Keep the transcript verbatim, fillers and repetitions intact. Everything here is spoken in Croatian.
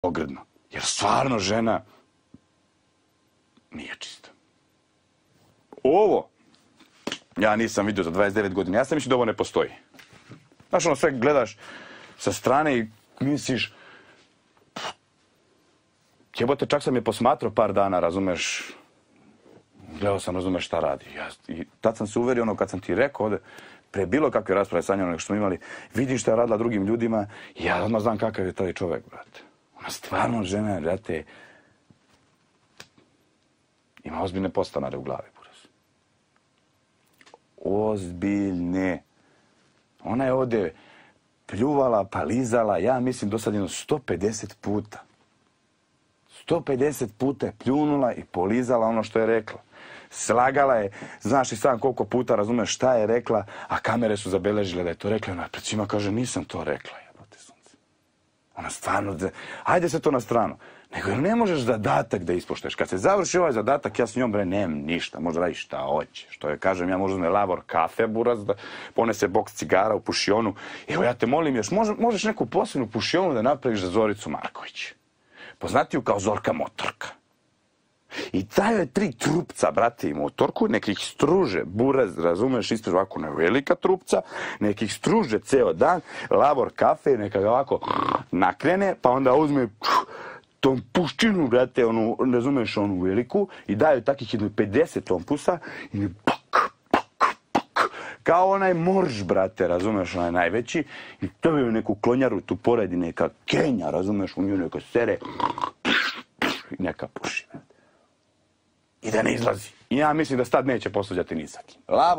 ogrdno. Jer stvarno žena nije čista. Ovo ja nisam vidio za dvadeset devet godina. Ja sam mislio da ovo ne postoji. Znaš, ono sve gledaš sa strane i misliš, jebote, čak sam je posmatrao par dana, razumeš, gledao sam, razumeš šta radi. Ja, i tad sam se uverio, ono, kad sam ti rekao ovde, pre bilo kakve rasprave sa njom nego što smo imali, vidim šta je radila drugim ljudima i ja odmah znam kakav je taj čovek, brate. Ona stvarno žena, brate, ima ozbiljne postanare u glavi, buraz. Ozbiljne. Ona je ovde pljuvala, palizala, ja mislim do sad jedno sto pedeset puta. sto pedeset puta je pljunula i polizala ono što je rekla. Slagala je, znaš i sam koliko puta razumeš šta je rekla, a kamere su zabeležile da je to rekla. Ona pred svima kaže, nisam to rekla, jebote sunce. Ona stvarno, ajde se to na stranu. Nego ne možeš zadatak da ispoštuješ. Kad se završi ovaj zadatak, ja s njom bre, nemam ništa. Možda radi šta hoće. Što je, kažem, ja možda uzme lavor kafe, buraz, da ponese boks cigara u pušionu. Evo, ja te molim još, možeš neku posebnu pušionu da napraviš za Zoricu Marković. Poznatiju kao Zorka Motorka. I daju je tri trupca, brate, i motorku, nekih struže, buraz, razumeš, ispred ovako ne velika trupca, nekih struže ceo dan, lavor kafe, neka ga ovako nakrene, pa onda uzme tom puščinu, brate, onu, razumeš, onu veliku, i daju takih jedno pedeset tompusa i ne pak, pak, pak, kao onaj morž, brate, razumeš, onaj najveći, i stavio neku klonjaru, tu poredi neka kenja, razumeš, u nju neka sere, i neka puši, brate. I da ne izlazi. I ja mislim da sad neće posvađati ni sa kim. Lavo.